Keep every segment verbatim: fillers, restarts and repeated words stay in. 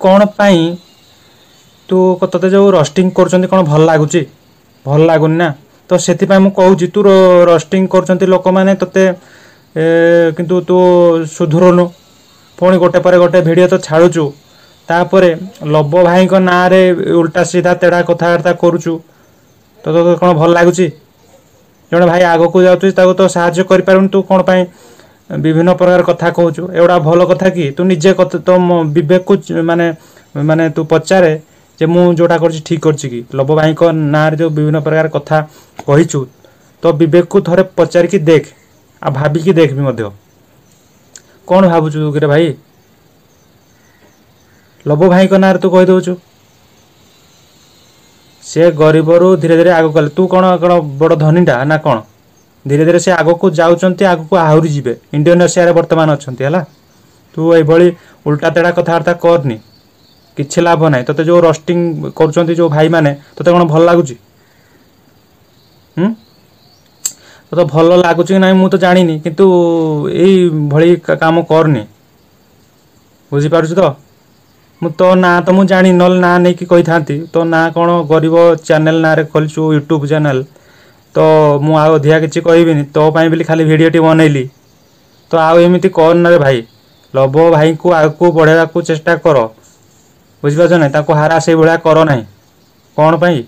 କ'ଣ ପାଇଁ ତୁ ତୋତେ ଯେଉଁ ରଷ୍ଟିଂ କରୁଛନ୍ତି କ'ଣ ଭଲ ଲାଗୁଛି? ଭଲ ଲାଗୁନି ନା? ତ ସେଥିପାଇଁ ମୁଁ କହୁଛି, ତୁ ରଷ୍ଟିଂ କରୁଛନ୍ତି ଲୋକମାନେ ତୋତେ, କିନ୍ତୁ ତୁ ସୁଧୁରୁନୁ। ପୁଣି ଗୋଟେ ପରେ ଗୋଟେ ଭିଡ଼ିଓ ତ ଛାଡ଼ୁଛୁ, ତାପରେ ଲବ ଭାଇଙ୍କ ନାଁରେ ଉଲ୍ଟା ସିଧା ତେଢ଼ା କଥାବାର୍ତ୍ତା କରୁଛୁ। ତ ତୋତେ କ'ଣ ଭଲ ଲାଗୁଛି? ଜଣେ ଭାଇ ଆଗକୁ ଯାଉଛି, ତାକୁ ତ ସାହାଯ୍ୟ କରିପାରୁନି, ତୁ କ'ଣ ପାଇଁ ବିଭିନ୍ନ ପ୍ରକାର କଥା କହୁଛୁ? ଏଗୁଡ଼ା ଭଲ କଥା କି? ତୁ ନିଜେ ତୋ ବିବେକକୁ ମାନେ ମାନେ ତୁ ପଚାରେ ଯେ ମୁଁ ଯେଉଁଟା କରୁଛି ଠିକ୍ କରୁଛି କି? ଲବ ଭାଇଙ୍କ ନାଁରେ ଯେଉଁ ବିଭିନ୍ନ ପ୍ରକାର କଥା କହିଛୁ, ତ ବିବେକକୁ ଥରେ ପଚାରିକି ଦେଖ ଆଉ ଭାବିକି ଦେଖ ବି ମଧ୍ୟ। କ'ଣ ଭାବୁଛୁ କିରେ ଭାଇ? ଲବ ଭାଇଙ୍କ ନାଁରେ ତୁ କହିଦେଉଛୁ, ସେ ଗରିବରୁ ଧୀରେ ଧୀରେ ଆଗକୁ ଗଲେ, ତୁ କ'ଣ କ'ଣ ବଡ଼ ଧନୀଟା ନା କ'ଣ? ଧୀରେ ଧୀରେ ସେ ଆଗକୁ ଯାଉଛନ୍ତି, ଆଗକୁ ଆହୁରି ଯିବେ, ଇଣ୍ଡୋନେସିଆରେ ବର୍ତ୍ତମାନ ଅଛନ୍ତି। ହେଲା, ତୁ ଏଇଭଳି ଉଲ୍ଟା ତେଢ଼ା କଥାବାର୍ତ୍ତା କରନି, କିଛି ଲାଭ ନାହିଁ। ତୋତେ ଯେଉଁ ରଷ୍ଟିଂ କରୁଛନ୍ତି ଯେଉଁ ଭାଇମାନେ, ତୋତେ କ'ଣ ଭଲ ଲାଗୁଛି? ହୁଁ, ତୋତେ ଭଲ ଲାଗୁଛି କି ନାହିଁ ମୁଁ ତ ଜାଣିନି, କିନ୍ତୁ ଏଇଭଳି କାମ କରନି, ବୁଝିପାରୁଛୁ ତ? ମୁଁ ତୋ ନାଁ ତ ମୁଁ ଜାଣିନି, ନହେଲେ ନାଁ ନେଇକି କହିଥାନ୍ତି। ତୋ ନାଁ କ'ଣ ଗରିବ ଚ୍ୟାନେଲ ନାଁରେ ଖୋଲିଛୁ ୟୁଟ୍ୟୁବ୍ ଚ୍ୟାନେଲ, ତ ମୁଁ ଆଉ ଅଧିକା କିଛି କହିବିନି। ତୋ ପାଇଁ ବୋଲି ଖାଲି ଭିଡ଼ିଓଟି ବନେଇଲି। ତ ଆଉ ଏମିତି କରନା ରେ ଭାଇ, ଲବ ଭାଇଙ୍କୁ ଆଗକୁ ବଢ଼େଇବାକୁ ଚେଷ୍ଟା କର, ବୁଝିପାରୁଛ ନାହିଁ? ତାକୁ ହାରା ସେଇଭଳିଆ କର ନାହିଁ। କ'ଣ ପାଇଁ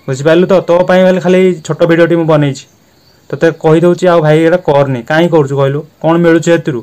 ବୁଝିପାରିଲୁ ତ? ତୋ ପାଇଁ ହେଲେ ଖାଲି ଛୋଟ ଭିଡ଼ିଓଟି ମୁଁ ବନେଇଛି, ତୋତେ କହିଦେଉଛି ଆଉ ଭାଇ ଏଇଟା କରନି। କାହିଁ କରୁଛୁ କହିଲୁ? କ'ଣ ମିଳୁଛି ଏଥିରୁ?